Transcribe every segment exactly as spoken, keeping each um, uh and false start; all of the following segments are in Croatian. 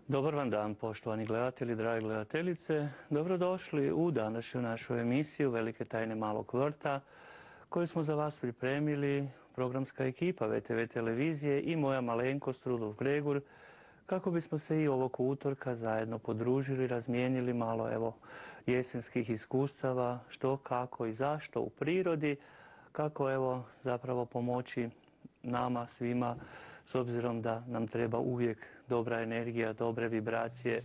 Dobar vam dan, poštovani gledatelji, drage gledateljice. Dobrodošli u današnju našu emisiju Velike tajne malog vrta, koju smo za vas pripremili programska ekipa ve te ve televizije i moja malenkost Rudolf Gregur, kako bismo se i ovog utorka zajedno podružili, razmijenili malo evo jesenskih iskustava, što, kako i zašto u prirodi, kako evo zapravo pomoći nama svima, s obzirom da nam treba uvijek dobra energija, dobre vibracije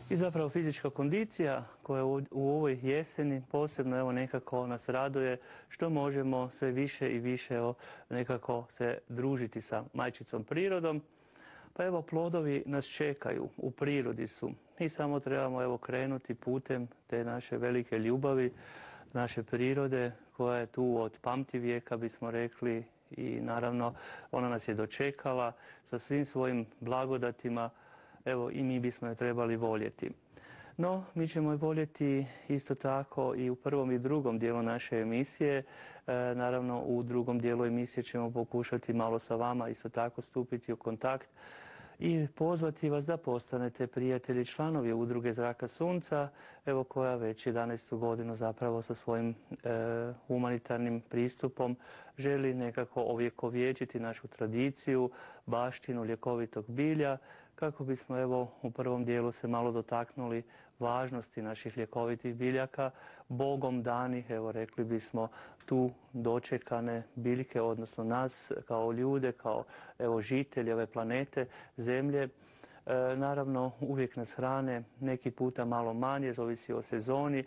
i zapravo fizička kondicija koja u ovoj jeseni posebno evo nekako nas raduje što možemo sve više i više evo nekako se družiti sa majčicom prirodom. Pa evo plodovi nas čekaju, u prirodi su. Mi samo trebamo evo krenuti putem te naše velike ljubavi, naše prirode koja je tu od pamtivijeka bismo rekli i naravno ona nas je dočekala sa svim svojim blagodatima, evo i mi bismo je trebali voljeti. No, mi ćemo je voljeti isto tako i u prvom i drugom dijelu naše emisije. E, naravno, u drugom dijelu emisije ćemo pokušati malo sa vama isto tako stupiti u kontakt i pozvati vas da postanete prijatelji, članovi Udruge Zraka Sunca, evo koja već jedanaestu godinu zapravo sa svojim e, humanitarnim pristupom želi nekako ovjekovječiti našu tradiciju, baštinu ljekovitog bilja, kako bismo evo u prvom dijelu se malo dotaknuli važnosti naših ljekovitih biljaka, Bogom danih, evo rekli bismo tu dočekane biljke, odnosno nas kao ljude, kao evo žitelji ove planete, zemlje. E, naravno uvijek nas hrane, neki puta malo manje, zavisi o sezoni,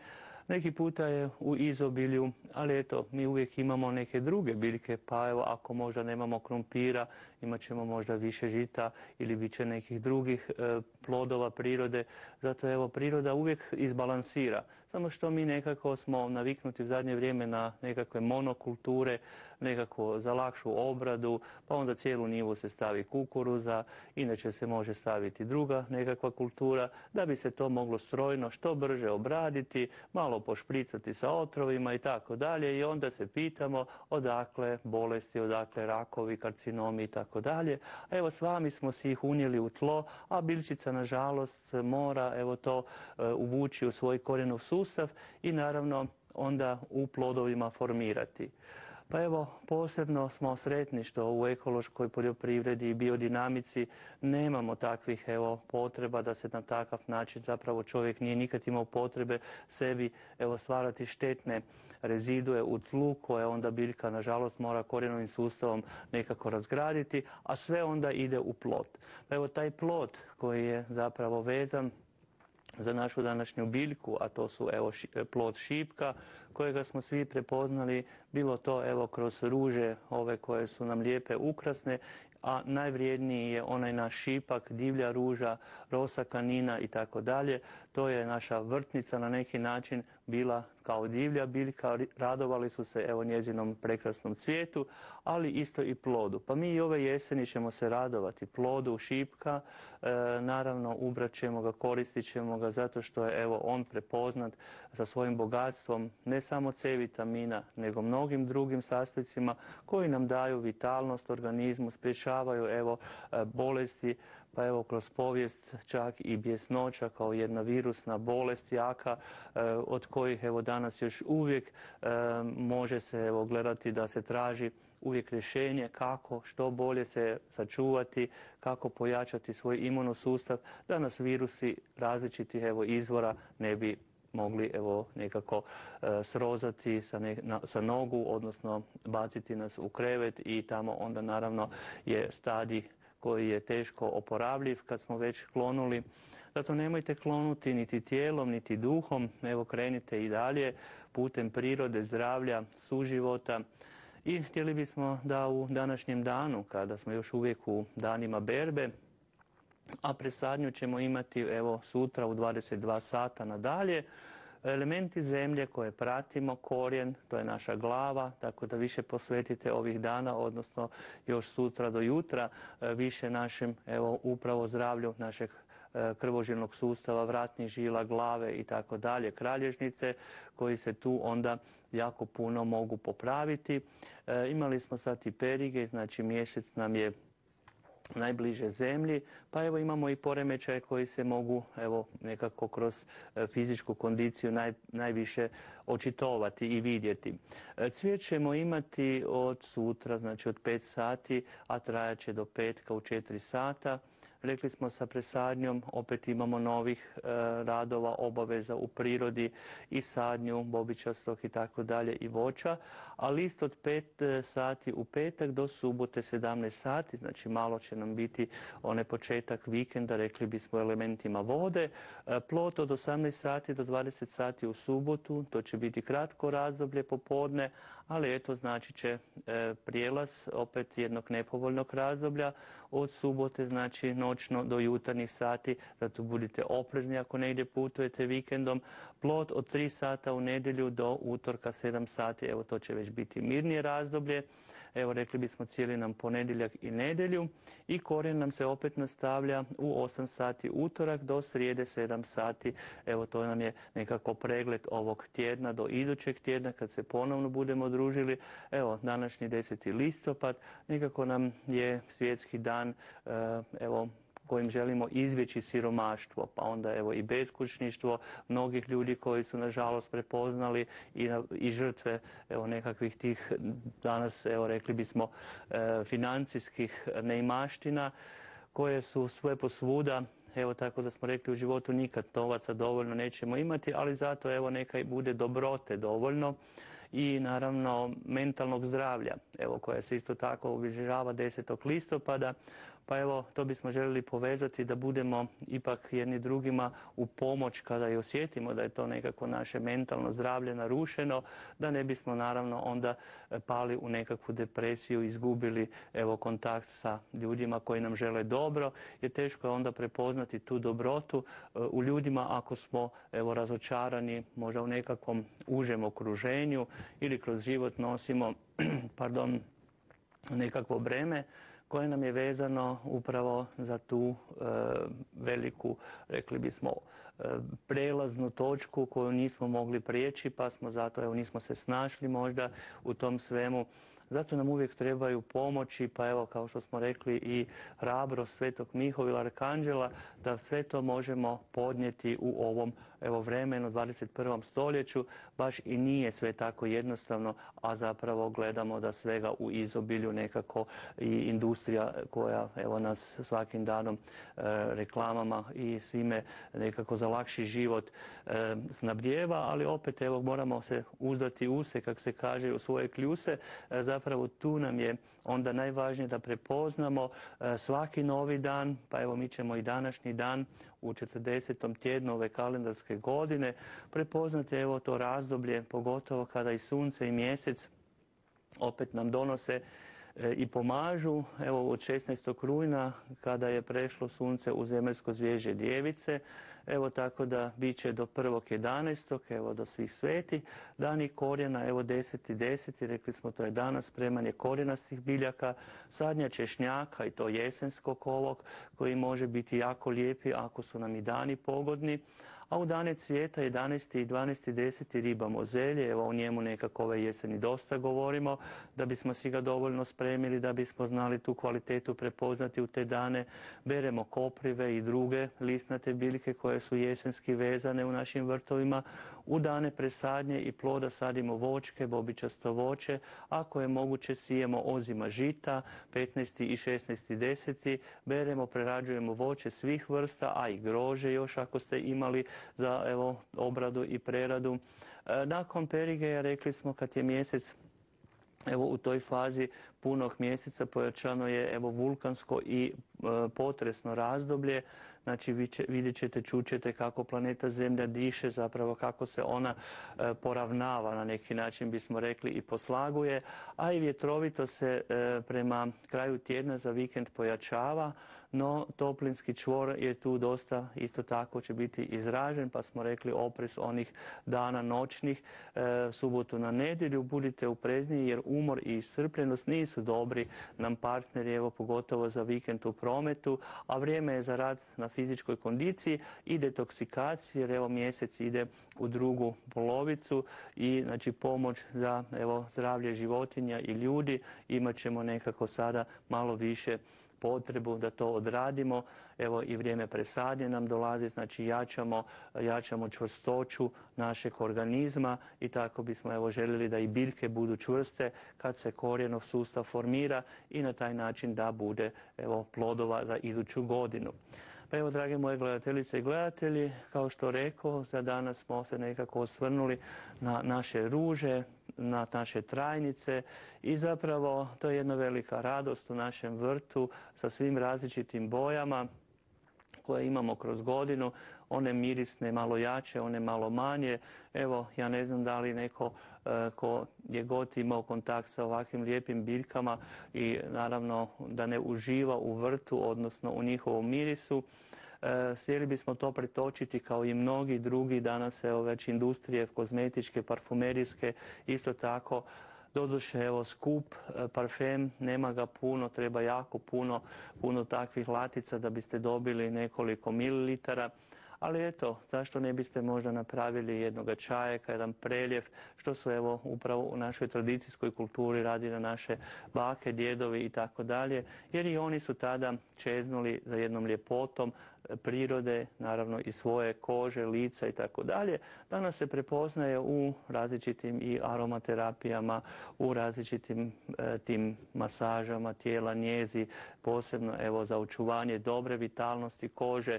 neki puta je u izobilju, ali eto, mi uvijek imamo neke druge biljke, pa evo, ako možda nemamo krumpira, imat ćemo možda više žita ili bit će nekih drugih e, plodova prirode. Zato evo, priroda uvijek izbalansira. Samo što mi nekako smo naviknuti u zadnje vrijeme na nekakve monokulture, nekako za lakšu obradu, pa onda cijelu njivu se stavi kukuruza, inače se može staviti druga nekakva kultura, da bi se to moglo strojno što brže obraditi, malo pošpricati sa otrovima i tako dalje i onda se pitamo odakle bolesti, odakle rakovi, karcinomi i tako dalje. A evo s vami smo si ih unijeli u tlo, a biljčica nažalost mora evo to uh, uvući u svoj korijenov sustav i naravno onda u plodovima formirati. Pa evo, posebno smo sretni što u ekološkoj poljoprivredi i biodinamici nemamo takvih evo potreba da se na takav način zapravo čovjek nije nikad imao potrebe sebi evo stvarati štetne rezidue u tlu koje onda biljka nažalost mora korijenovim sustavom nekako razgraditi, a sve onda ide u plod. Pa evo taj plod koji je zapravo vezan za našu današnju biljku, a to su evo plod šipka kojega smo svi prepoznali, bilo to evo kroz ruže ove koje su nam lijepe, ukrasne, a najvrijedniji je onaj naš šipak, divlja ruža, rosa kanina i tako dalje. To je naša vrtnica na neki način bila kao divlja biljka, radovali su se evo njezinom prekrasnom cvijetu, ali isto i plodu. Pa mi i ove jeseni ćemo se radovati plodu šipka, e, naravno ubrat ćemo ga, koristit ćemo ga zato što je evo on prepoznat sa svojim bogatstvom ne samo C vitamina, nego mnogim drugim sastojcima koji nam daju vitalnost organizmu, sprječavaju evo bolesti, pa evo kroz povijest čak i bjesnoća kao jedna virusna bolest jaka e, od kojih evo danas još uvijek e, može se evo gledati da se traži uvijek rješenje kako što bolje se sačuvati, kako pojačati svoj imunosustav da nas virusi različitih evo izvora ne bi mogli evo nekako e, srozati sa, ne, na, sa nogu, odnosno baciti nas u krevet i tamo onda naravno je stadij koji je teško oporavljiv kad smo već klonuli. Zato nemojte klonuti niti tijelom, niti duhom, evo krenite i dalje putem prirode, zdravlja, suživota. I htjeli bismo da u današnjem danu, kada smo još uvijek u danima berbe, a presadnju ćemo imati evo sutra u dvadeset dva sata nadalje, elementi zemlje koje pratimo, korijen, to je naša glava, tako da više posvetite ovih dana, odnosno još sutra do jutra, više našem evo upravo zdravlju našeg krvožilnog sustava, vratnih žila, glave i tako dalje, kralježnice koji se tu onda jako puno mogu popraviti. E, imali smo sad i perige, znači mjesec nam je najbliže zemlji, pa evo imamo i poremećaje koji se mogu evo nekako kroz fizičku kondiciju naj, najviše očitovati i vidjeti. Cvijet ćemo imati od sutra, znači od pet sati, a trajat će do petka u četiri sata. Rekli smo sa presadnjom, opet imamo novih e, radova, obaveza u prirodi i sadnju, bobičastog i tako dalje i voća, a list od pet sati u petak do subote sedamnaest sati, znači malo će nam biti onaj početak vikenda, rekli bismo elementima vode. E, plot od osamnaest sati do dvadeset sati u subotu, to će biti kratko razdoblje popodne, ali eto znači će e, prijelaz opet jednog nepovoljnog razdoblja od subote, znači noćno do jutarnjih sati, zato budite oprezni ako negdje putujete vikendom. Plot od tri sata u nedjelju do utorka sedam sati, evo to će već biti mirnije razdoblje. Evo rekli bismo cijeli nam ponedjeljak i nedjelju i korijen nam se opet nastavlja u osam sati utorak do srijede sedam sati. Evo to nam je nekako pregled ovog tjedna do idućeg tjedna kad se ponovno budemo družili. Evo današnji deseti listopad, nekako nam je svjetski dan, evo kojim želimo izbjeći siromaštvo, pa onda evo i beskućništvo mnogih ljudi koji su nažalost prepoznali i, i žrtve evo nekakvih tih danas evo rekli bismo e, financijskih neimaština koje su sve posvuda. Evo tako da smo rekli u životu nikad novaca dovoljno nećemo imati, ali zato evo neka bude dobrote dovoljno i naravno mentalnog zdravlja, evo koja se isto tako obilježava desetog listopada. Pa evo, to bismo željeli povezati da budemo ipak jedni drugima u pomoć kada i osjetimo da je to nekako naše mentalno zdravlje narušeno, da ne bismo naravno onda pali u nekakvu depresiju, izgubili evo kontakt sa ljudima koji nam žele dobro, jer teško je onda prepoznati tu dobrotu u ljudima ako smo evo razočarani možda u nekakvom užem okruženju ili kroz život nosimo pardon, nekakvo breme koje nam je vezano upravo za tu e, veliku, rekli bismo, e, prelaznu točku koju nismo mogli prijeći, pa smo zato, evo, nismo se snašli možda u tom svemu. Zato nam uvijek trebaju pomoći, pa evo, kao što smo rekli, i hrabrost Svetog Mihovila Arkanđela, da sve to možemo podnijeti u ovom evo vremenu, dvadeset prvom stoljeću. Baš i nije sve tako jednostavno, a zapravo gledamo da svega u izobilju nekako i industrija koja evo nas svakim danom e, reklamama i svime nekako za lakši život e, snabdijeva, ali opet evo moramo se uzdati u se, kak se kaže, u svoje kljuse. E, zapravo tu nam je onda najvažnije da prepoznamo e, svaki novi dan, pa evo mi ćemo i današnji dan u četrdesetom tjednu ove kalendarske godine prepoznati evo to razdoblje, pogotovo kada i sunce i mjesec opet nam donose e, i pomažu. Evo od šesnaestog rujna kada je prešlo sunce u zemaljsko zvježđe Djevice, evo tako da bit će do prvog jedanaestog evo do svih sveti, dani korijena, evo deseti deseti, rekli smo to je danas spremanje korijenastih biljaka, sadnja češnjaka i to jesenskog ovog koji može biti jako lijepi ako su nam i dani pogodni. A u dane cvijeta jedanaesti i dvanaesti deseti riba mozelje, evo o njemu nekako ove jeseni dosta govorimo, da bismo si ga dovoljno spremili, da bismo znali tu kvalitetu prepoznati u te dane. Beremo koprive i druge lisnate biljke koje su jesenski vezane u našim vrtovima. U dane presadnje i ploda sadimo voćke, bobičasto voće, ako je moguće sijemo ozima žita, petnaesti i šesnaesti deseti beremo, prerađujemo voće svih vrsta, a i grože još ako ste imali za evo obradu i preradu. E, nakon perigeja rekli smo kad je mjesec evo u toj fazi punog mjeseca pojačano je evo vulkansko i e, potresno razdoblje. Znači vidjet ćete, čućete kako planeta Zemlja diše, zapravo kako se ona e, poravnava na neki način bismo rekli i poslaguje, a i vjetrovito se e, prema kraju tjedna za vikend pojačava, no toplinski čvor je tu dosta isto tako će biti izražen, pa smo rekli oprez onih dana noćnih, e, subotu na nedjelju, budite oprezniji jer umor i iscrpljenost nisu dobri nam partneri, evo pogotovo za vikend u prometu, a vrijeme je za rad na fizičkoj kondiciji i detoksikaciji jer evo mjesec ide u drugu polovicu i znači pomoć za evo zdravlje životinja i ljudi imat ćemo nekako sada malo više potrebu da to odradimo. Evo i vrijeme presadnje nam dolazi, znači jačamo, jačamo čvrstoću našeg organizma i tako bismo evo željeli da i biljke budu čvrste kad se korijenov sustav formira i na taj način da bude evo plodova za iduću godinu. Pa evo, drage moje gledateljice i gledatelji, kao što rekao, za danas smo se nekako osvrnuli na naše ruže, na naše trajnice i zapravo to je jedna velika radost u našem vrtu sa svim različitim bojama koje imamo kroz godinu, one mirisne malo jače, one malo manje. Evo, ja ne znam da li neko e, ko je god imao kontakt sa ovakvim lijepim biljkama i naravno da ne uživa u vrtu, odnosno u njihovom mirisu. E, Htjeli bismo to pretočiti kao i mnogi drugi danas, evo već industrije kozmetičke, parfumerijske, isto tako. Doduše, evo, skup parfem, nema ga puno, treba jako puno, puno takvih latica da biste dobili nekoliko mililitara. Ali eto, zašto ne biste možda napravili jednoga čajeka, jedan preljev, što su evo upravo u našoj tradicijskoj kulturi radi na naše bake, djedovi i tako dalje, jer i oni su tada čeznuli za jednom ljepotom prirode, naravno i svoje kože, lica i tako dalje. Danas se prepoznaje u različitim i aromaterapijama, u različitim e, tim masažama tijela, njezi, posebno evo za očuvanje dobre vitalnosti kože.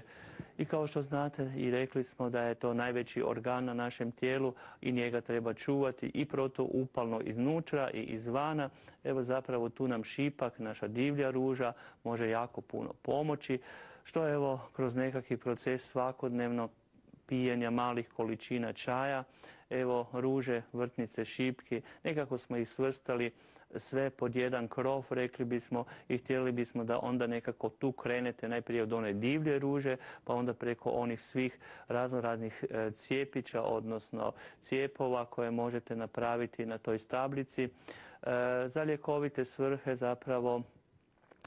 I kao što znate i rekli smo da je to najveći organ na našem tijelu i njega treba čuvati i protuupalno iznutra i izvana. Evo zapravo tu nam šipak, naša divlja ruža, može jako puno pomoći, što evo kroz nekakvi proces svakodnevno pijenja malih količina čaja, evo ruže, vrtnice, šipki, nekako smo ih svrstali sve pod jedan krov, rekli bismo, i htjeli bismo da onda nekako tu krenete najprije od one divlje ruže, pa onda preko onih svih raznoraznih cijepića, odnosno cijepova koje možete napraviti na toj stablici. Za ljekovite svrhe zapravo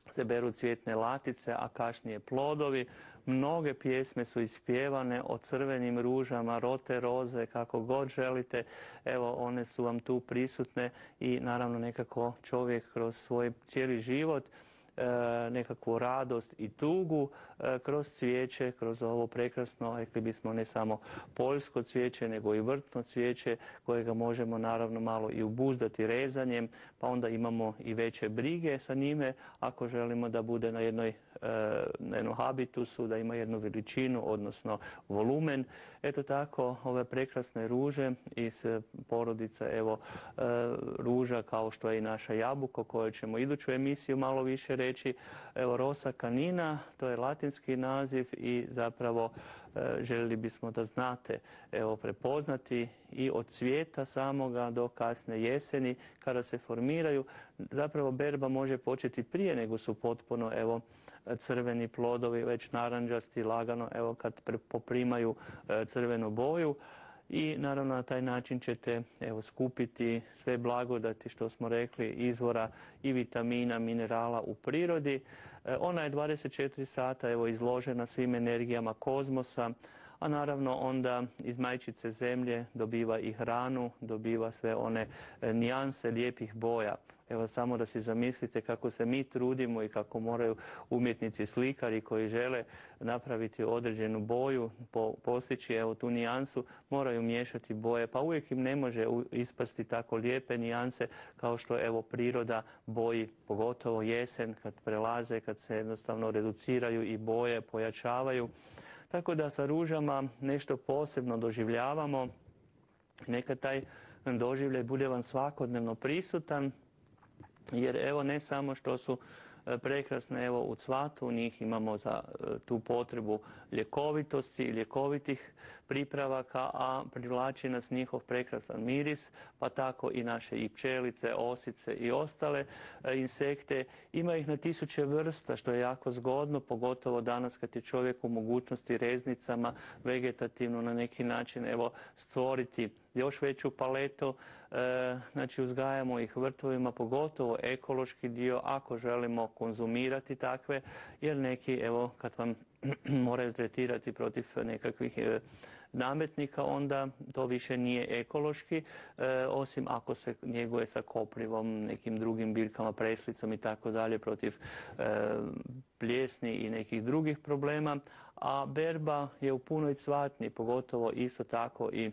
se beru cvjetne latice, a kasnije plodovi. Mnoge pjesme su ispjevane o crvenim ružama, rote roze, kako god želite. Evo, one su vam tu prisutne i naravno nekako čovjek kroz svoj cijeli život nekakvu radost i tugu kroz cvijeće, kroz ovo prekrasno, rekli bismo ne samo poljsko cvijeće, nego i vrtno cvijeće kojega možemo naravno malo i obuzdati rezanjem, pa onda imamo i veće brige sa njime ako želimo da bude na jednoj na jednom habitusu, da ima jednu veličinu, odnosno volumen. Eto tako, ove prekrasne ruže iz porodice, evo, ruža kao što je i naša jabuka, o kojoj ćemo iduću emisiju malo više reći. Evo, Rosa canina, to je latinski naziv i zapravo željeli bismo da znate, evo, prepoznati i od cvijeta samoga do kasne jeseni kada se formiraju. Zapravo berba može početi prije nego su potpuno, evo, crveni plodovi, već naranđasti, lagano, evo, kad poprimaju crvenu boju. I naravno na taj način ćete evo skupiti sve blagodati što smo rekli izvora i vitamina, minerala u prirodi. E, ona je dvadeset četiri sata evo izložena svim energijama kozmosa, a naravno onda iz majčice zemlje dobiva i hranu, dobiva sve one e, nijanse lijepih boja. Evo samo da si zamislite kako se mi trudimo i kako moraju umjetnici, slikari koji žele napraviti određenu boju, po, postići evo tu nijansu, moraju miješati boje, pa uvijek im ne može ispasti tako lijepe nijanse kao što evo priroda boji, pogotovo jesen kad prelaze, kad se jednostavno reduciraju i boje, pojačavaju. Tako da sa ružama nešto posebno doživljavamo, neka taj doživljaj bude vam svakodnevno prisutan, jer evo ne samo što su prekrasne evo u cvatu, u njih imamo za tu potrebu ljekovitosti i ljekovitih pripravaka, a privlači nas njihov prekrasan miris, pa tako i naše i pčelice, osice i ostale insekte. Ima ih na tisuće vrsta, što je jako zgodno, pogotovo danas kad je čovjek u mogućnosti reznicama vegetativno na neki način evo stvoriti još veću paletu. E, znači uzgajamo ih vrtovima, pogotovo ekološki dio, ako želimo konzumirati takve, jer neki, evo, kad vam moraju tretirati protiv nekakvih nametnika, onda to više nije ekološki, e, osim ako se njeguje sa koprivom, nekim drugim biljkama, preslicom i tako dalje, protiv e, pljesni i nekih drugih problema. A berba je u punoj cvatnji, pogotovo isto tako i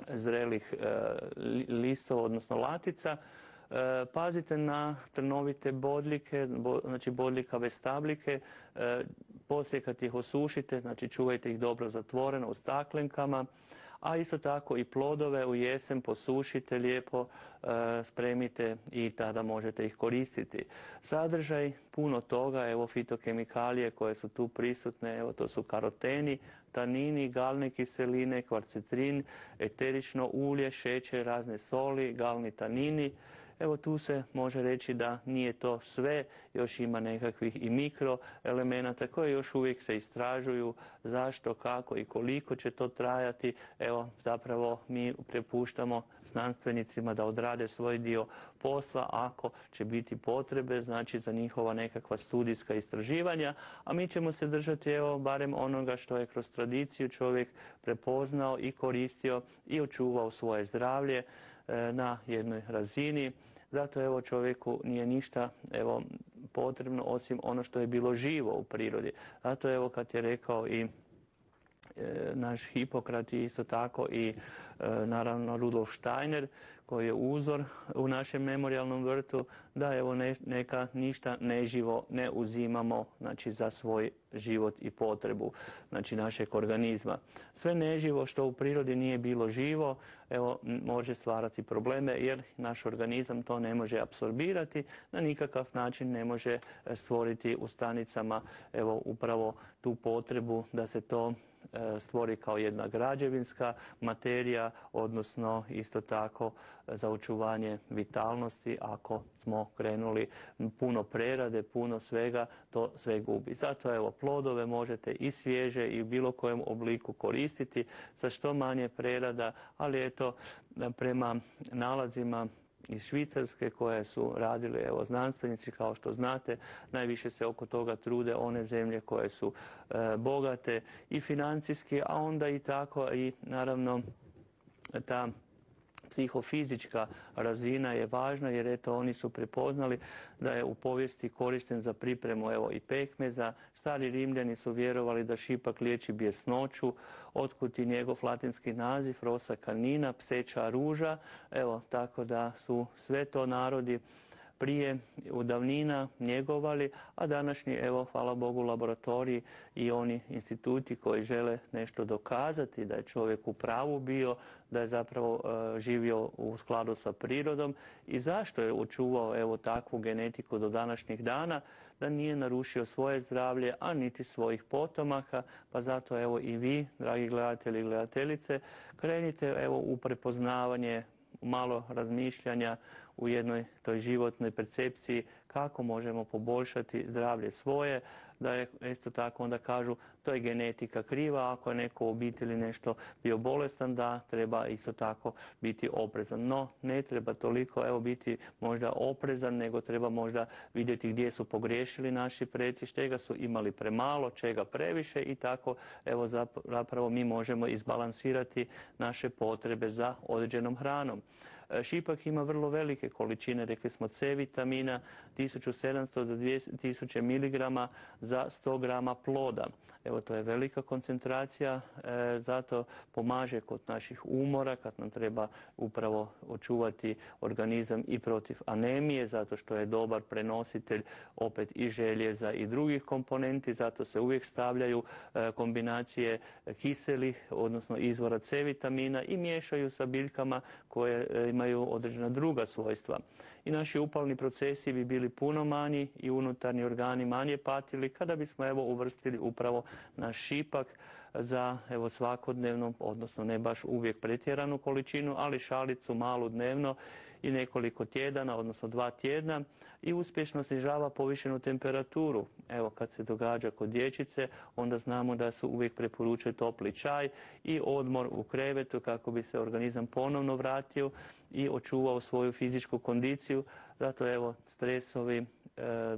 zrelih e, listova, odnosno latica. E, pazite na trnovite bodljike, bo, znači bodljikave stabljike, e, poslije kad ih osušite, znači čuvajte ih dobro zatvoreno u staklenkama, a isto tako i plodove u jesen posušite lijepo, e, spremite i tada možete ih koristiti. Sadržaj puno toga, evo fitokemikalije koje su tu prisutne, evo to su karoteni, tanini, galne kiseline, kvarcetrin, eterično ulje, šećer, razne soli, galni tanini. Evo tu se može reći da nije to sve, još ima nekakvih i mikroelemenata koje još uvijek se istražuju, zašto, kako i koliko će to trajati. Evo zapravo mi prepuštamo znanstvenicima da odrade svoj dio posla ako će biti potrebe, znači za njihova nekakva studijska istraživanja, a mi ćemo se držati evo barem onoga što je kroz tradiciju čovjek prepoznao i koristio i očuvao svoje zdravlje na jednoj razini. Zato evo čovjeku nije ništa evo potrebno osim ono što je bilo živo u prirodi. Zato evo kad je rekao i e, naš Hipokrat i isto tako i e, naravno Rudolf Steiner koji je uzor u našem memorijalnom vrtu, da evo ne, neka ništa neživo ne uzimamo, znači za svoj život i potrebu, znači našeg organizma. Sve neživo što u prirodi nije bilo živo, evo može stvarati probleme jer naš organizam to ne može apsorbirati, na nikakav način ne može stvoriti u stanicama evo upravo tu potrebu da se to stvori kao jedna građevinska materija, odnosno isto tako za očuvanje vitalnosti. Ako smo krenuli puno prerade, puno svega, to sve gubi. Zato evo plodove možete i svježe i u bilo kojem obliku koristiti sa što manje prerada, ali eto prema nalazima iz Švicarske koje su radili evo znanstvenici, kao što znate, najviše se oko toga trude one zemlje koje su e, bogate i financijski, a onda i tako i naravno ta psihofizička razina je važna jer eto oni su prepoznali da je u povijesti korišten za pripremu evo i pekmeza. Stari Rimljani su vjerovali da šipak liječi bjesnoću, otkud i njegov latinski naziv rosa canina, pseća ruža. Evo tako da su sve to narodi prije u davnina njegovali, a današnji, evo, hvala Bogu, laboratoriji i oni instituti koji žele nešto dokazati da je čovjek u pravu bio, da je zapravo uh, živio u skladu sa prirodom i zašto je očuvao evo takvu genetiku do današnjih dana, da nije narušio svoje zdravlje, a niti svojih potomaka, pa zato evo i vi, dragi gledatelji i gledateljice, krenite evo u prepoznavanje, malo razmišljanja u jednoj toj životnoj percepciji kako možemo poboljšati zdravlje svoje, da je isto tako onda kažu to je genetika kriva, ako je neko u obitelji nešto bio bolestan, da treba isto tako biti oprezan. No, ne treba toliko evo biti možda oprezan, nego treba možda vidjeti gdje su pogriješili naši preci, čega su imali premalo, čega previše i tako evo zapravo mi možemo izbalansirati naše potrebe za određenom hranom. Šipak ima vrlo velike količine, rekli smo C vitamina, tisuću sedamsto do dvije tisuće miligrama za sto grama ploda. Evo to je velika koncentracija, e, zato pomaže kod naših umora kad nam treba upravo očuvati organizam i protiv anemije, zato što je dobar prenositelj opet i željeza i drugih komponenti, zato se uvijek stavljaju e, kombinacije kiselih, odnosno izvora C vitamina i miješaju sa biljkama koje e, imaju određena druga svojstva. I naši upalni procesi bi bili puno manji i unutarnji organi manje patili kada bismo evo uvrstili upravo naš šipak za evo svakodnevno, odnosno ne baš uvijek pretjeranu količinu, ali šalicu malu dnevno i nekoliko tjedana, odnosno dva tjedna i uspješno snižava povišenu temperaturu. Evo kad se događa kod dječice, onda znamo da su uvijek preporučuje topli čaj i odmor u krevetu kako bi se organizam ponovno vratio i očuvao svoju fizičku kondiciju. Zato evo stresovi,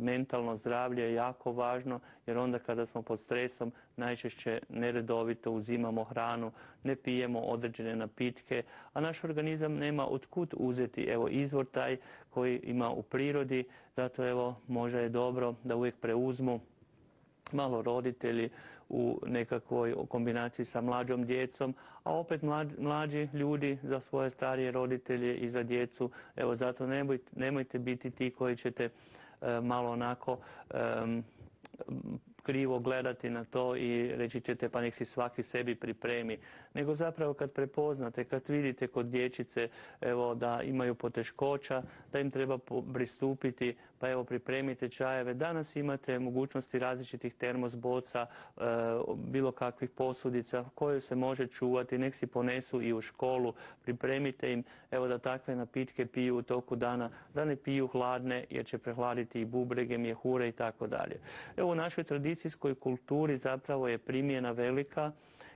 mentalno zdravlje je jako važno, jer onda kada smo pod stresom najčešće neredovito uzimamo hranu, ne pijemo određene napitke, a naš organizam nema otkud uzeti evo izvor taj koji ima u prirodi, zato evo možda je dobro da uvijek preuzmu malo roditelji u nekakvoj kombinaciji sa mlađom djecom, a opet mlađi ljudi za svoje starije roditelje i za djecu. Evo zato nemojte, nemojte biti ti koji ćete e, malo onako e, krivo gledati na to i reći ćete pa nek si svaki sebi pripremi. Nego zapravo kad prepoznate, kad vidite kod dječice evo, da imaju poteškoća, da im treba pristupiti, pa evo pripremite čajeve. Danas imate mogućnosti različitih termos boca, e, bilo kakvih posudica koje se može čuvati, nek si ponesu i u školu, pripremite im evo da takve napitke piju u toku dana, da ne piju hladne jer će prehladiti i bubrege, mjehure i tako dalje. Evo u našoj tradicijskoj kulturi zapravo je primjena velika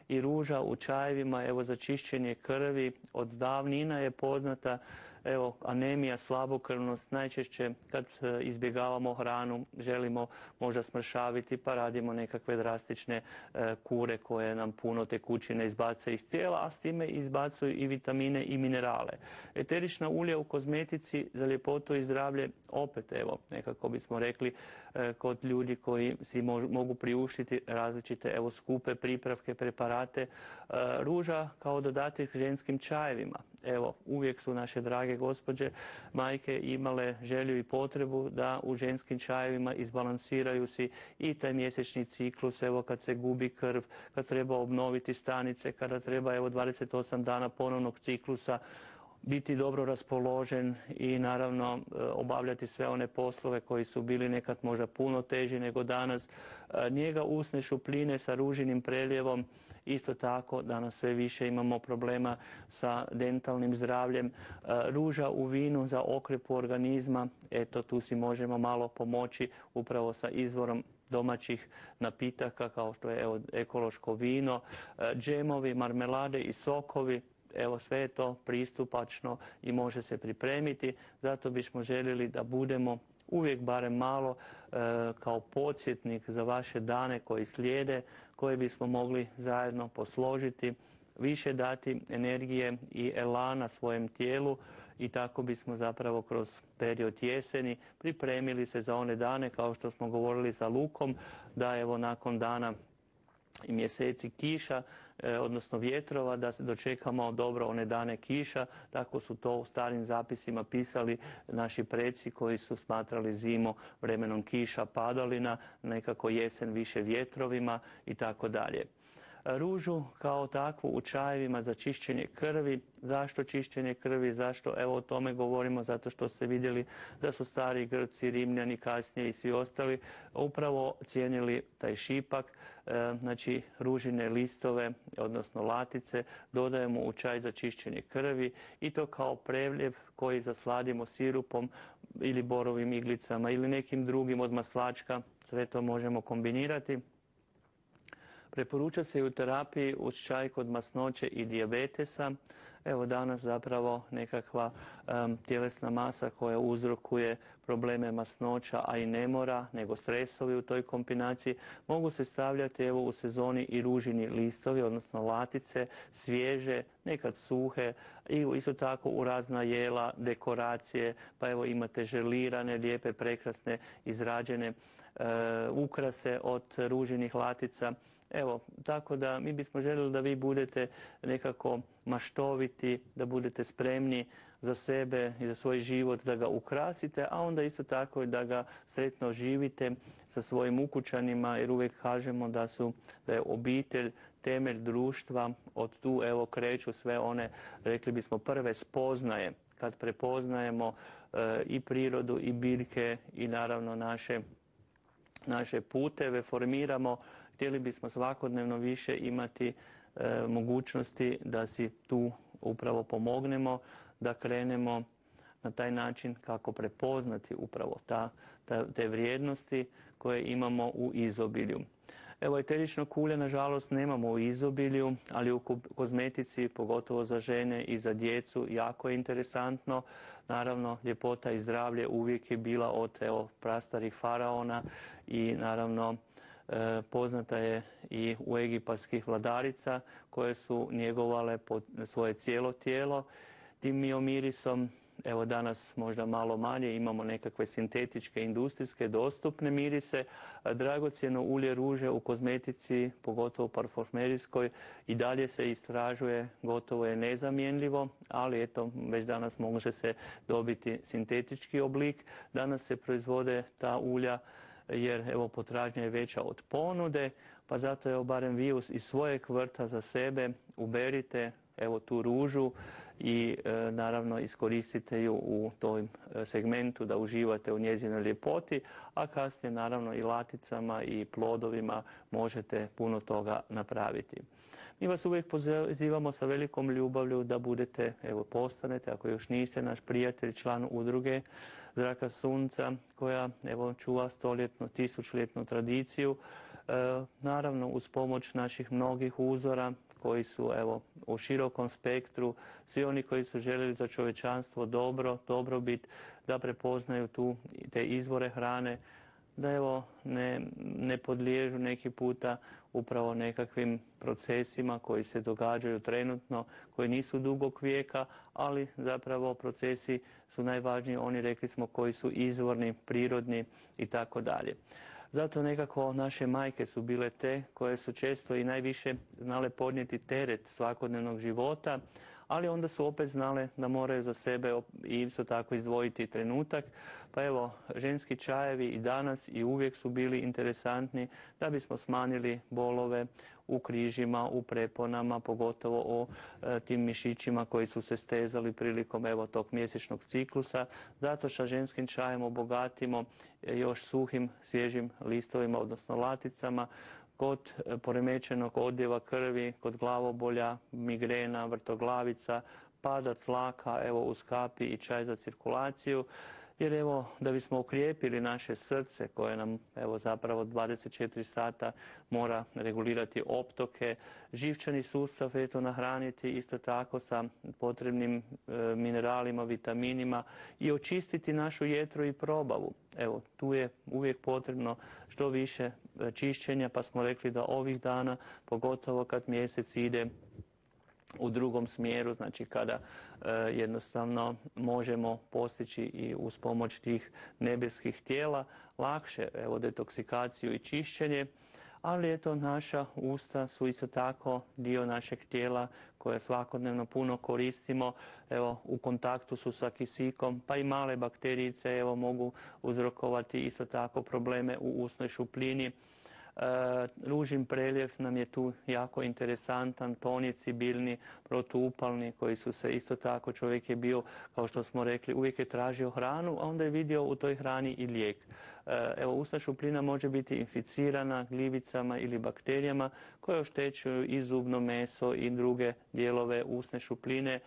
i ruža u čajevima evo za čišćenje krvi od davnina je poznata. Evo, anemija, slabokrvnost, najčešće kad izbjegavamo hranu, želimo možda smršaviti pa radimo nekakve drastične e, kure koje nam puno tekućine izbacaju iz tijela, a s time izbacuju i vitamine i minerale. Eterična ulja u kozmetici za ljepotu i zdravlje, opet evo, nekako bismo rekli, e, kod ljudi koji si mo mogu priuštiti različite evo skupe pripravke, preparate. E, ruža kao dodatak ženskim čajevima. Evo, uvijek su naše drage gospođe, majke imale želju i potrebu da u ženskim čajevima izbalansiraju si i taj mjesečni ciklus, evo kad se gubi krv, kad treba obnoviti stanice, kada treba evo dvadeset osam dana ponovnog ciklusa, biti dobro raspoložen i naravno obavljati sve one poslove koji su bili nekad možda puno teži nego danas. Njega usne šupljine sa ružinim preljevom, isto tako danas sve više imamo problema sa dentalnim zdravljem. Ruža u vinu za okrepu organizma, eto tu si možemo malo pomoći upravo sa izvorom domaćih napitaka kao što je evo, ekološko vino, džemovi, marmelade i sokovi. Evo sve je to pristupačno i može se pripremiti, zato bismo željeli da budemo uvijek barem malo e, kao podsjetnik za vaše dane koji slijede, koje bismo mogli zajedno posložiti, više dati energije i elana svojem tijelu i tako bismo zapravo kroz period jeseni pripremili se za one dane kao što smo govorili sa lukom, da evo nakon dana i mjeseci kiša, eh, odnosno vjetrova, da se dočekamo dobro one dane kiša. Tako su to u starim zapisima pisali naši preci koji su smatrali zimu vremenom kiša, padalina, nekako jesen više vjetrovima i tako dalje. Ružu kao takvu u čajevima za čišćenje krvi. Zašto čišćenje krvi? Zašto? Evo o tome govorimo, zato što ste vidjeli da su stari Grci, Rimljani kasnije i svi ostali upravo cijenili taj šipak, e, znači ružine listove, odnosno latice, dodajemo u čaj za čišćenje krvi i to kao preljev koji zasladimo sirupom ili borovim iglicama ili nekim drugim od maslačka. Sve to možemo kombinirati. Preporuča se i u terapiji uz čaj kod masnoće i dijabetesa. Evo danas zapravo nekakva um, tjelesna masa koja uzrokuje probleme masnoća, a i ne mora, nego stresovi u toj kombinaciji. Mogu se stavljati evo u sezoni i ružini listovi, odnosno latice, svježe, nekad suhe i isto tako u razna jela, dekoracije, pa evo imate želirane, lijepe, prekrasne, izrađene uh, ukrase od ružinih latica. Evo, tako da mi bismo željeli da vi budete nekako maštoviti, da budete spremni za sebe i za svoj život, da ga ukrasite, a onda isto tako i da ga sretno živite sa svojim ukućanima, jer uvijek kažemo da su, da je obitelj temelj društva, od tu evo kreću sve one, rekli bismo, prve spoznaje, kad prepoznajemo e, i prirodu i biljke i naravno naše, naše puteve, formiramo. Htjeli bismo svakodnevno više imati e, mogućnosti da si tu upravo pomognemo, da krenemo na taj način kako prepoznati upravo ta, ta, te vrijednosti koje imamo u izobilju. Evo, eteričnog ulja, nažalost, nemamo u izobilju, ali u kozmetici, pogotovo za žene i za djecu, jako je interesantno. Naravno, ljepota i zdravlje uvijek je bila od evo, prastarih faraona i naravno poznata je i u egipatskih vladarica koje su njegovale svoje cijelo tijelo tim miomirisom. Evo danas možda malo manje imamo nekakve sintetičke, industrijske, dostupne mirise. Dragocjeno ulje ruže u kozmetici, pogotovo parfumerijskoj, i dalje se istražuje, gotovo je nezamjenljivo, ali eto, već danas može se dobiti sintetički oblik. Danas se proizvode ta ulja jer evo potražnja je veća od ponude, pa zato evo barem vi iz svojeg vrta za sebe uberite evo tu ružu i e, naravno iskoristite ju u tom segmentu da uživate u njezinoj ljepoti, a kasnije naravno i laticama i plodovima možete puno toga napraviti. Mi vas uvijek pozivamo sa velikom ljubavlju da budete, evo postanete, ako još niste, naš prijatelj, član udruge Zraka sunca, koja evo čuva stoljetnu, tisućljetnu tradiciju, e, naravno uz pomoć naših mnogih uzora koji su evo u širokom spektru, svi oni koji su željeli za čovječanstvo dobro, dobrobit, da prepoznaju tu te izvore hrane, da evo ne, ne podliježu neki puta upravo nekakvim procesima koji se događaju trenutno, koji nisu dugog vijeka, ali zapravo procesi su najvažniji, oni rekli smo koji su izvorni, prirodni i tako dalje. Zato nekako naše majke su bile te koje su često i najviše znale podnijeti teret svakodnevnog života, ali onda su opet znale da moraju za sebe i isto tako izdvojiti trenutak. Pa evo, ženski čajevi i danas i uvijek su bili interesantni da bismo smanjili bolove u križima, u preponama, pogotovo o e, tim mišićima koji su se stezali prilikom evo tog mjesečnog ciklusa. Zato sa ženskim čajem obogatimo još suhim, svježim listovima, odnosno laticama, kod poremećenog odljeva krvi, kod glavobolja, migrena, vrtoglavica, pada tlaka, evo uz kapi i čaj za cirkulaciju. Jer evo, da bismo okrijepili naše srce koje nam evo zapravo dvadeset četiri sata mora regulirati optoke, živčani sustav eto nahraniti isto tako sa potrebnim e, mineralima, vitaminima i očistiti našu jetru i probavu. Evo, tu je uvijek potrebno što više čišćenja, pa smo rekli da ovih dana, pogotovo kad mjesec ide u drugom smjeru, znači kada e, jednostavno možemo postići i uz pomoć tih nebeskih tijela lakše evo detoksikaciju i čišćenje, ali eto naša usta su isto tako dio našeg tijela koje svakodnevno puno koristimo, evo u kontaktu su sa kisikom, pa i male bakterijice evo mogu uzrokovati isto tako probleme u usnoj šupljini. Ružin preljev nam je tu jako interesantan, tonici biljni, protuupalni koji su se isto tako, čovjek je bio, kao što smo rekli, uvijek je tražio hranu, a onda je vidio u toj hrani i lijek. Evo, usna šupljina može biti inficirana gljivicama ili bakterijama koje oštećuju i zubno meso i druge dijelove usne šupljine,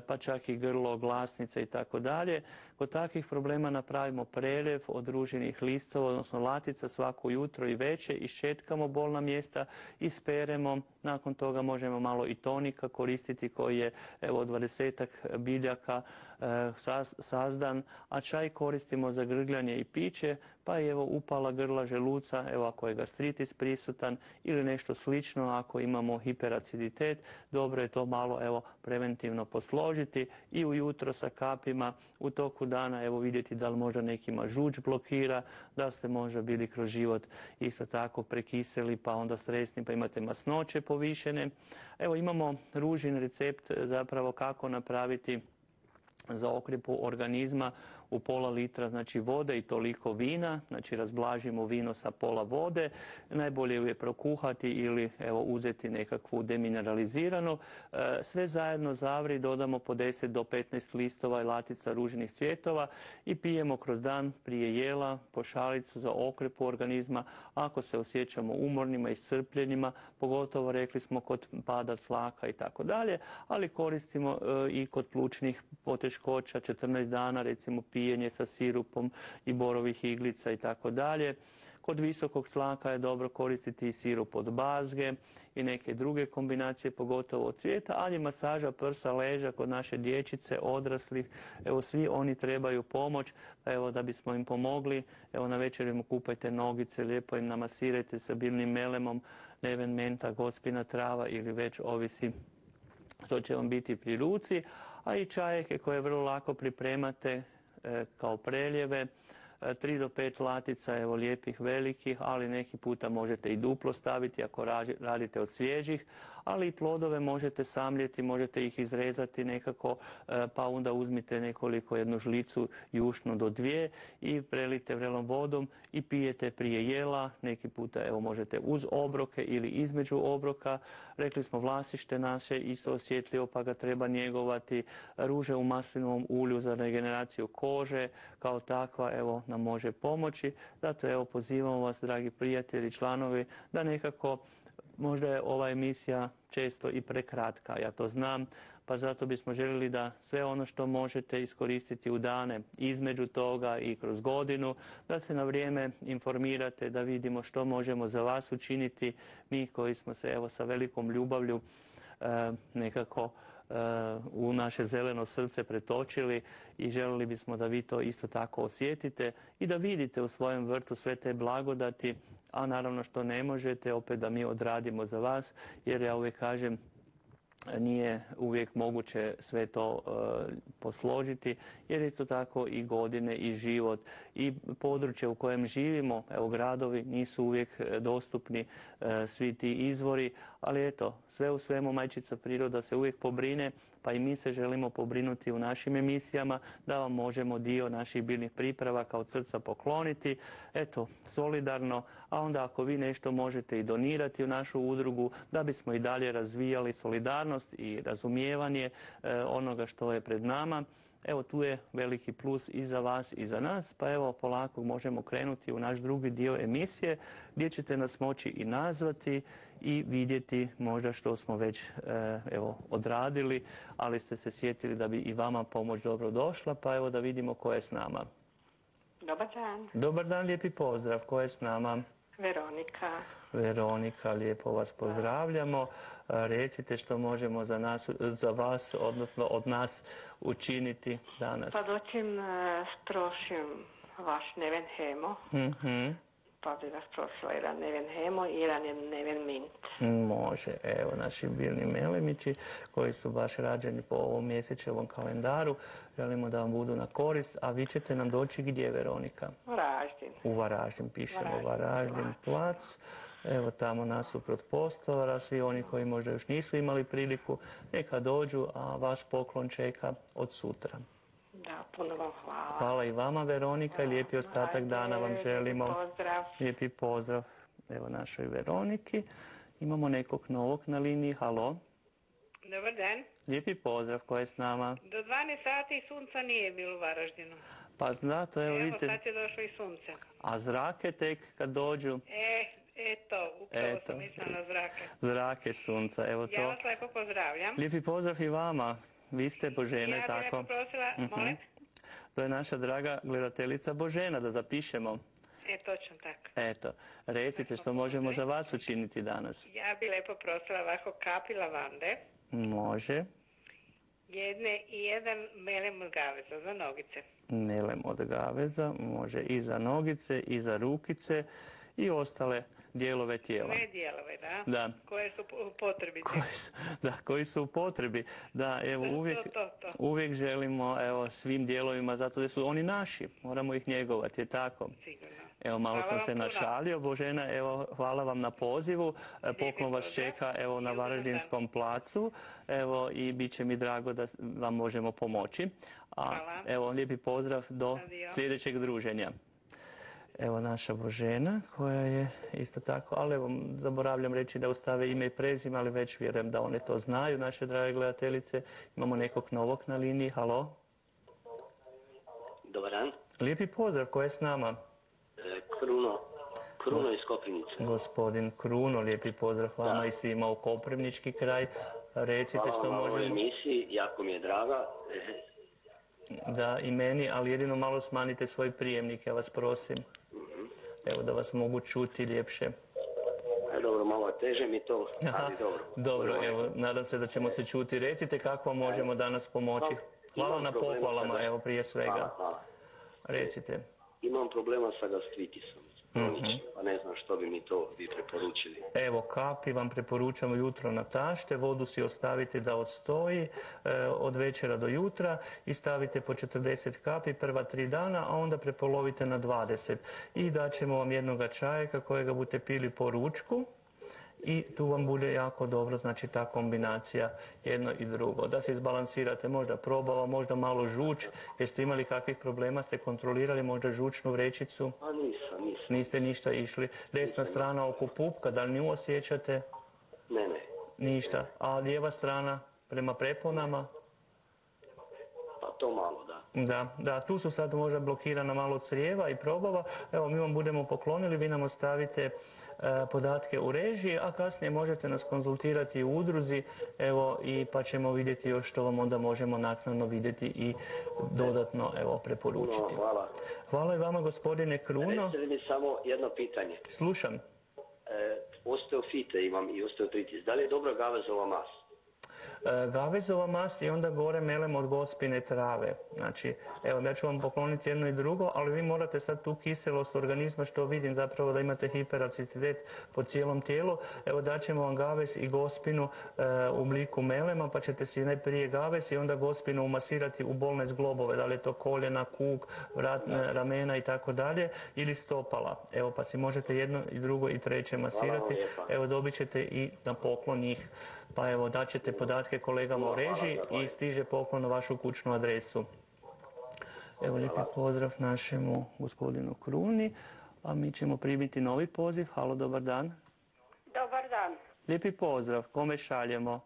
pa čak i grlo, glasnice i tako dalje. Kod takvih problema napravimo preljev od ružinih listova, odnosno latica svako jutro i veće, iščetkamo bolna mjesta, isperemo, nakon toga možemo malo i tonika koristiti koji je evo dvadesetak biljaka e, sazdan, a čaj koristimo za grgljanje i piće, pa evo upala grla, želuca, evo ako je gastritis prisutan ili nešto slično, ako imamo hiperaciditet, dobro je to malo evo preventivno posložiti i ujutro sa kapima, u toku dana evo vidjeti da li možda nekima žuč blokira, da ste možda bili kroz život isto tako prekiseli pa onda stresni pa imate masnoće povišene. Evo imamo ružin recept zapravo kako napraviti zaokrepu organizma u pola litra znači vode i toliko vina, znači razblažimo vino sa pola vode, najbolje ju je prokuhati ili evo uzeti nekakvu demineraliziranu, sve zajedno zavri, dodamo po deset do petnaest listova i latica ružinih cvjetova i pijemo kroz dan prije jela po šalicu za okrepu organizma ako se osjećamo umornima i iscrpljenima, pogotovo rekli smo kod pada tlaka i tako dalje, ali koristimo i kod plućnih poteškoća četrnaest dana recimo pijenje sa sirupom i borovih iglica i tako dalje. Kod visokog tlaka je dobro koristiti i sirup od bazge i neke druge kombinacije, pogotovo od cvijeta, ali masaža prsa, leđa kod naše dječice, odraslih, evo svi oni trebaju pomoć, evo da bismo im pomogli, evo na večer im kupajte nogice, lijepo im namasirajte sa biljnim melemom, neven, menta, gospina trava ili već ovisi što će vam biti pri ruci, a i čajeke koje vrlo lako pripremate e, kao preljeve, tri do pet latica, evo lijepih velikih, ali neki puta možete i duplo staviti ako radite od svježih, ali i plodove možete samljeti, možete ih izrezati nekako, pa onda uzmite nekoliko, jednu žlicu jušnu do dvije i prelite vrelom vodom i pijete prije jela, neki puta evo možete uz obroke ili između obroka. Rekli smo vlasište naše isto osjetljivo pa ga treba njegovati, ruže u maslinovom ulju za regeneraciju kože kao takva evo nam može pomoći. Zato evo pozivamo vas, dragi prijatelji, članovi, da nekako, možda je ova emisija često i prekratka, ja to znam, pa zato bismo željeli da sve ono što možete iskoristiti u dane između toga i kroz godinu, da se na vrijeme informirate, da vidimo što možemo za vas učiniti, mi koji smo se evo sa velikom ljubavlju e, nekako u naše zeleno srce pretočili i željeli bismo da vi to isto tako osjetite i da vidite u svojem vrtu sve te blagodati, a naravno što ne možete, opet da mi odradimo za vas, jer ja uvijek kažem, nije uvijek moguće sve to e, posložiti, jer isto tako i godine i život i područje u kojem živimo, evo gradovi nisu uvijek dostupni e, svi ti izvori, ali eto, sve u svemu majčica priroda se uvijek pobrine, pa i mi se želimo pobrinuti u našim emisijama da vam možemo dio naših biljnih pripravaka od srca pokloniti, eto, solidarno, a onda ako vi nešto možete i donirati u našu udrugu, da bismo i dalje razvijali solidarnost i razumijevanje e, onoga što je pred nama. Evo tu je veliki plus i za vas i za nas, pa evo polako možemo krenuti u naš drugi dio emisije gdje ćete nas moći i nazvati i vidjeti možda što smo već e, evo odradili, ali ste se sjetili da bi i vama pomoć dobro došla, pa evo da vidimo ko je s nama. Dobar dan. Dobar dan, lijepi pozdrav, ko je s nama? Veronika. Veronika, lijepo vas pozdravljamo. Recite što možemo za, nas, za vas, odnosno od nas učiniti danas. Pa doćim strošim vaš neven hemo, Mm-hmm. pa bi vas prosila jedan neven hemo i jedan neven mint. Može, evo naši biljni melemići koji su baš rađeni po ovom mjesečevom kalendaru. Želimo da vam budu na korist, a vi ćete nam doći gdje, Veronika? Varaždin. U Varaždin, pišemo Varaždin, Varaždin plac. Evo tamo nasuprot postolara, svi oni koji možda još nisu imali priliku, neka dođu, a vaš poklon čeka od sutra. Da, puno vam hvala. Hvala i vama, Veronika, i lijepi ostatak dana vam želimo. Lijepi pozdrav. Lijepi pozdrav, evo našoj Veroniki. Imamo nekog novog na liniji, halo. Dobar dan. Lijepi pozdrav, ko je s nama? Do dvanaest sati sunca nije bilo u Varaždinu. Pa znate, evo Evo vidite, sad je došlo i sunce. a zrake tek kad dođu, E, eto, upravo Eto. sam mislila na zrake. zrake sunca, evo Ja to. vas lepo pozdravljam. Lijepi pozdrav i vama, vi ste Božena, Ja tako? bih lepo prosila, molim? To je naša draga gledateljica Božena, da zapišemo. E, točno tako. Eto, recite što možemo za vas učiniti danas. Ja bih lepo prosila ovako kapi lavande, Može, jedne i jedan melem od gaveza za nogice. melem od gaveza, može i za nogice, i za rukice i ostale dijelove tijela. Sve dijelove, da? Da. Koje su u potrebi. Koji su, da, koji su u potrebi. Da, evo, To, uvijek, to, to, to. uvijek želimo, evo, svim dijelovima, zato da su oni naši, moramo ih njegovati, je tako? Sigurno. Evo, malo Hvala sam vam se puno. našalio, Božena, evo, hvala vam na pozivu. E, Poklon vas pozdrav. čeka, evo, na I ugodan Varaždinskom placu, evo, i bit će mi drago da vam možemo pomoći. A, Hvala. evo, lijepi pozdrav do Adio. sljedećeg druženja. Evo naša Božena koja je isto tako, ali evo zaboravljam reći da ostave ime i prezime, ali već vjerujem da one to znaju, naše drage gledateljice. Imamo nekog novog na liniji, halo. Dobar dan. Lijepi pozdrav, ko je s nama? E, Kruno, Kruno iz Koprivnice. Gospodin Kruno, lijepi pozdrav vama Da. i svima u Koprivnički kraj. Recite Hvala što vam na ovoj možemo. emisiji, jako mi je draga. E, Da, i meni, ali jedino malo smanjite svoj prijemnik, ja vas prosim. evo da vas mogu čuti ljepše. E, dobro, malo teže mi to, ali dobro. Dobro, evo, nadam se da ćemo se čuti. Recite kako vam možemo danas pomoći. Hvala Imam na problema pohvalama, sa- evo prije svega. Hvala, hvala. Recite. Imam problema sa gastritisom, kroničnim, pa ne znam što bi mi to vi preporučili. Evo, kapi vam preporučamo jutro na tašte, vodu si ostavite da odstoji e, od večera do jutra i stavite po četrdeset kapi prva tri dana, a onda prepolovite na dvadeset. I daćemo vam jednoga čajka kojega budete pili po ručku. I tu vam bude jako dobro, znači ta kombinacija jedno i drugo. Da se izbalansirate, možda probava, možda malo žuč. Jeste imali kakvih problema, ste kontrolirali možda žučnu vrećicu? A nisam, nisam. Niste ništa išli. Desna strana oko pupka, da li nju osjećate? Ne, ne. Ništa. A lijeva strana prema preponama? Pa to malo, da. Da, da, tu su sad možda blokirana malo crijeva i probava. Evo, mi vam budemo poklonili, vi nam ostavite e, podatke u režiji, a kasnije možete nas konzultirati u udruzi, evo, i pa ćemo vidjeti još što vam onda možemo naknadno vidjeti i dodatno, evo, preporučiti. Puno hvala. Hvala i vama, gospodine Kruno. Recite mi samo jedno pitanje. Slušam. E, osteofite imam i osteotritis. Da li je dobra gavezova mast? E, Gavezova mast i onda gore melem od gospine trave. Znači, evo, ja ću vam pokloniti jedno i drugo, ali vi morate sad tu kiselost organizma, što vidim zapravo da imate hiperaciditet po cijelom tijelu. Evo, daćemo vam gavez i gospinu e, u obliku melema, pa ćete si najprije gavez i onda gospinu umasirati u bolne zglobove, da li je to koljena, kuk, vratne, ramena i tako dalje, ili stopala. Evo, pa si možete jedno i drugo i treće masirati. Evo, dobit ćete i na poklon njih. Pa evo, daćete podatke kolegama u režiji i stiže poklon na vašu kućnu adresu. Evo, lijepi pozdrav našemu gospodinu Kruni, a mi ćemo primiti novi poziv. Halo, dobar dan. Dobar dan. Lijepi pozdrav, kome šaljemo?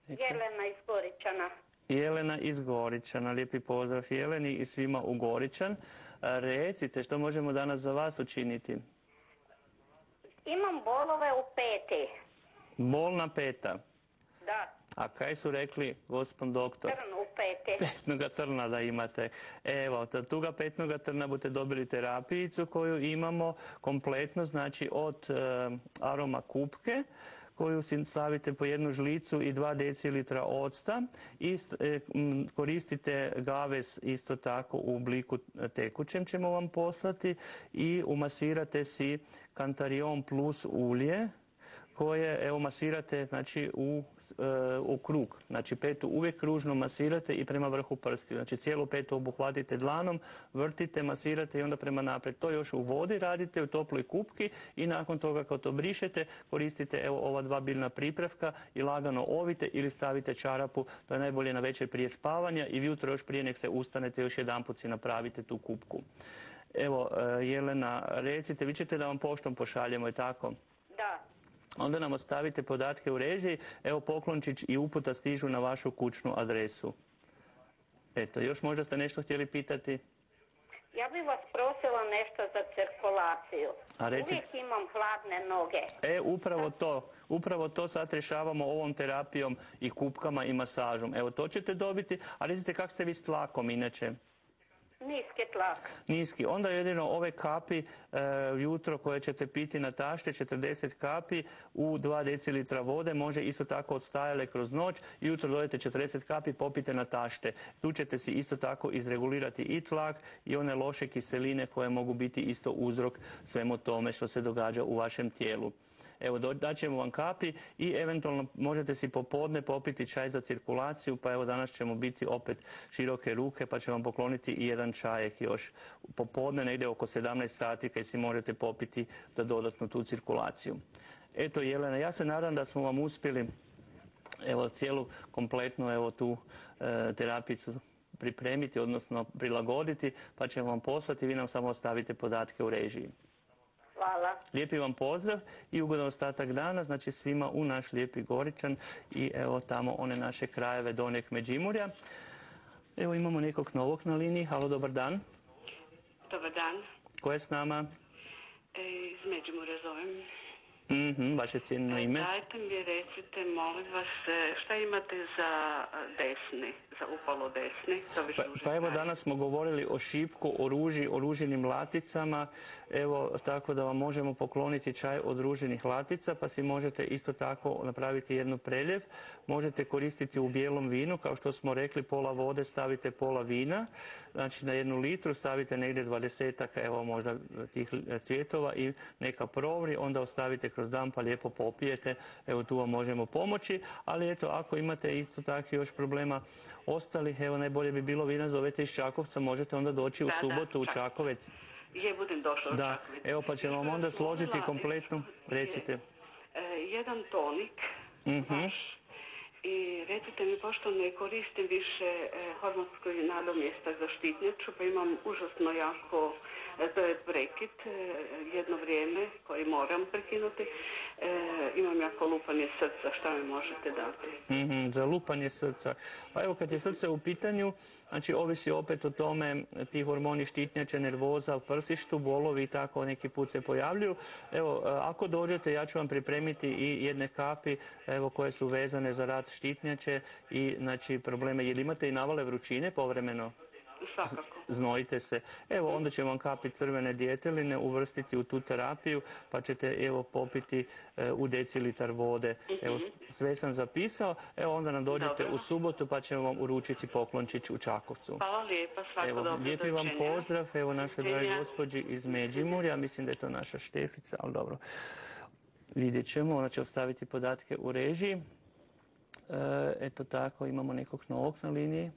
Jelena iz Goričana. Jelena iz Goričana, lijepi pozdrav Jeleni i svima u Goričan. Recite, što možemo danas za vas učiniti? Imam bolove u peti. Bolna peta. Da, A kaj su rekli gospod doktor? trn u peti. Petnoga trna da imate. Evo, ta tuga petnoga trna budete dobili terapijicu koju imamo kompletno, znači od e, aroma kupke, koju si stavite po jednu žlicu i dva decilitra octa i e, m, koristite gavez isto tako u obliku tekućem ćemo vam poslati i umasirate si Cantarion plus ulje koje evo masirate znači u, e, u krug. Znači petu uvijek kružno masirate i prema vrhu prstiju. Znači cijelu petu obuhvatite dlanom, vrtite, masirate i onda prema naprijed. To još u vodi radite u toploj kupki i nakon toga kad to brišete koristite evo ova dva biljna pripravka i lagano ovite ili stavite čarapu. To je najbolje na večer prije spavanja i jutro još prije nek se ustanete još jedanput si napravite tu kupku. Evo Jelena, recite, vi ćete da vam poštom pošaljemo i tako? Da. Onda nam ostavite podatke u režiji, evo poklončić i uputa stižu na vašu kućnu adresu. Eto, još možda ste nešto htjeli pitati? Ja bih vas prosila nešto za cirkulaciju. A reci... Uvijek imam hladne noge. E, upravo to. Upravo to sad rješavamo ovom terapijom i kupkama i masažom. Evo, to ćete dobiti. A recite, kak ste vi s tlakom inače? Niski tlak. Niski. Onda jedino ove kapi e, jutro koje ćete piti na tašte, četrdeset kapi u dva decilitra vode, može isto tako odstajale kroz noć. Jutro dodajete četrdeset kapi, popite na tašte. Tu ćete si isto tako izregulirati i tlak i one loše kiseline koje mogu biti isto uzrok svemu tome što se događa u vašem tijelu. Evo, daćemo vam kapi i eventualno možete si popodne popiti čaj za cirkulaciju, pa evo danas ćemo biti opet široke ruke, pa ćemo vam pokloniti i jedan čajek još popodne, negdje oko sedamnaest sati, kad si možete popiti da dodatnu tu cirkulaciju. Eto, Jelena, ja se nadam da smo vam uspjeli evo cijelu kompletnu evo tu e, terapicu pripremiti, odnosno prilagoditi, pa ćemo vam poslati, vi nam samo ostavite podatke u režiji. Hvala. Lijepi vam pozdrav i ugodan ostatak dana, znači svima u naš lijepi Goričan i evo tamo one naše krajeve Donjeg Međimurja. Evo imamo nekog novog na liniji. Halo, dobar dan. Dobar dan. Ko je s nama? E, iz Međimurja zovem. Mhm, vaše cijenjeno ime. Dajte mi recite, molim vas, šta imate za desni, lica upalo desni, to više Pa, duže pa evo traje. danas smo govorili o šipku, o ruži, o ružinim laticama, evo tako da vam možemo pokloniti čaj od ružinih latica, pa si možete isto tako napraviti jednu preljev. Možete koristiti u bijelom vinu, kao što smo rekli, pola vode stavite pola vina, znači na jednu litru stavite negdje dvadesetak, evo možda tih cvjetova i neka provri, onda ostavite kroz dan pa lijepo popijete, evo tu vam možemo pomoći, ali eto ako imate isto tako još problema ostalih, evo najbolje bi bilo vi nas zovete iz Čakovca, možete onda doći u Da, da, subotu u Čakovec. Čakovec. Je, budem došla u Da, Čakovec. evo pa ćemo vam Još onda bih složiti molila, kompletnu, je, recite. e, jedan tonik, Mhm. vaš, i recite mi, pošto ne koristim više e, hormonsko nadomjestak za štitnjaču, pa imam užasno jako, e, to je prekid, e, jedno vrijeme koji moram prekinuti, e, imam jako lupanje srca, šta mi možete dati? Mhm, za lupanje srca. Pa evo kad je srce u pitanju, znači ovisi opet o tome, ti hormoni štitnjače, nervoza u prsištu, bolovi i tako neki put se pojavljuju. Evo, ako dođete, ja ću vam pripremiti i jedne kapi, evo, koje su vezane za rad štitnjače i znači probleme. Jel imate i navale vrućine povremeno? Svakako. Znojite se. Evo onda ćemo vam kapi crvene djeteline uvrstiti u tu terapiju pa ćete evo popiti e, u decilitar vode. Evo sve sam zapisao. Evo onda nam dođete Dobro. u subotu pa ćemo vam uručiti poklončić u Čakovcu. Hvala lijepa, svako Evo, dobro, lijepi vam doviđenja. pozdrav, evo našoj dragi Doviđenja. gospođi iz Međimurja, mislim da je to naša Štefica, ali dobro. Vidjet ćemo, ona će ostaviti podatke u režiji. E, eto tako, imamo nekog novog na liniji.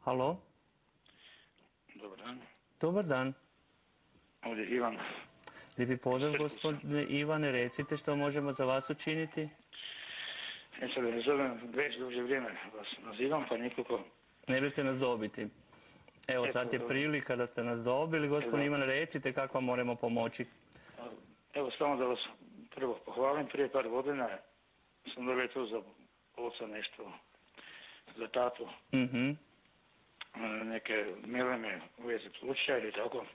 Halo? Dobar dan. Dobar dan. Ovdje je Ivan. Lijepi pozdrav, gospodine Ivane, recite što možemo za vas učiniti. Ja se ne zovem, već duže vrijeme vas nazivam, pa nikako. Ne biste nas dobiti. Evo Eto, sad je dobro. prilika da ste nas dobili. Gospodin Evo. Ivan, recite kako vam moramo pomoći. Evo samo da vas prvo pohvalim, prije par godina sam dobio tu za oca nešto, za tatu, Mhm. neke meleme u vezi pluća ili tako.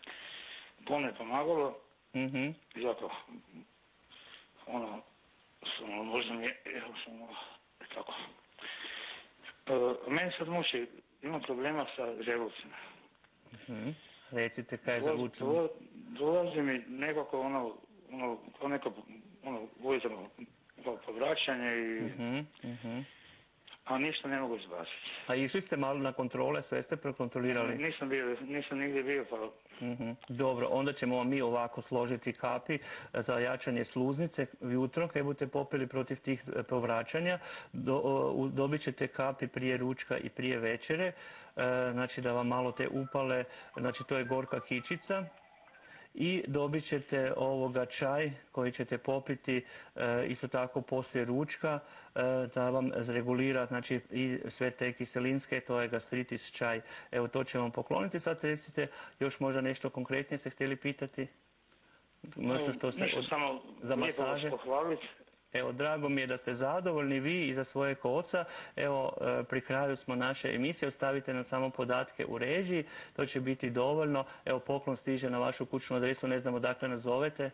To mi je pomagalo, Mhm. i zato, ono, samo možda mi je, evo samo, tako. E, meni sad muči, imam problema sa želucem. Mhm. Recite kaj je za Dola- vučem. dola- Dolazi mi nekako ono, ono, kao neko, ono, ujutro kao povraćanje i, Mhm. Mhm. a ništa ne mogu izbaciti. A išli ste malo na kontrole, sve ste prekontrolirali? Nisam bio, nisam nigdje bio, pa Mhm. Dobro, onda ćemo vam mi ovako složiti kapi za jačanje sluznice jutro, kad budete popili protiv tih e, povraćanja. Do, o, dobit ćete kapi prije ručka i prije večere, e, znači da vam malo te upale, znači to je gorka kičica. I dobit ćete ovoga čaj koji ćete popiti e, isto tako poslije ručka e, da vam zregulira znači i sve te kiselinske, to je gastritis čaj. Evo to ćemo vam pokloniti. Sad recite još možda nešto konkretnije ste htjeli pitati? Nešto što ste ništa, od- samo za lijepo vas masaže? pohvaliti. Evo, drago mi je da ste zadovoljni vi i za svojeg oca. Evo, e, pri kraju smo naše emisije, ostavite nam samo podatke u režiji, to će biti dovoljno. Evo, poklon stiže na vašu kućnu adresu, ne znam odakle nas zovete.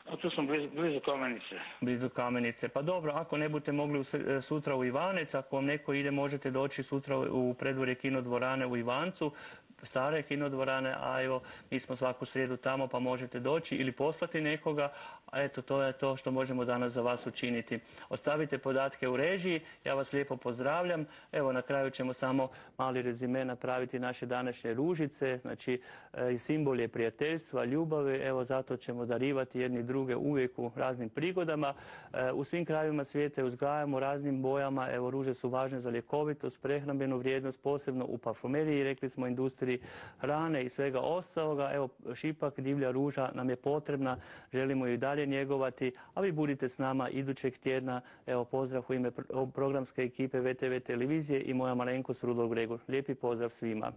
A tu sam blizu, blizu Kamenice. Blizu Kamenice. Pa dobro, ako ne budete mogli u s- sutra u Ivanec, ako vam neko ide, možete doći sutra u predvorje kinodvorane u Ivancu, stare kinodvorane, a evo, mi smo svaku srijedu tamo pa možete doći ili poslati nekoga, a eto, to je to što možemo danas za vas učiniti. Ostavite podatke u režiji, ja vas lijepo pozdravljam. Evo, na kraju ćemo samo mali rezime napraviti naše današnje ružice, znači e, simbol je prijateljstva, ljubavi, evo zato ćemo darivati jedni druge uvijek u raznim prigodama. E, u svim krajevima svijeta je uzgajamo raznim bojama, evo ruže su važne za ljekovitost, prehrambenu vrijednost, posebno u parfumeriji, rekli smo industriji hrane i svega ostaloga. Evo, šipak divlja ruža nam je potrebna, želimo ju i dalje njegovati, a vi budite s nama idućeg tjedna. Evo, pozdrav u ime pro- programske ekipe ve te ve televizije i moja malenkost Rudolf Gregor. Lijepi pozdrav svima.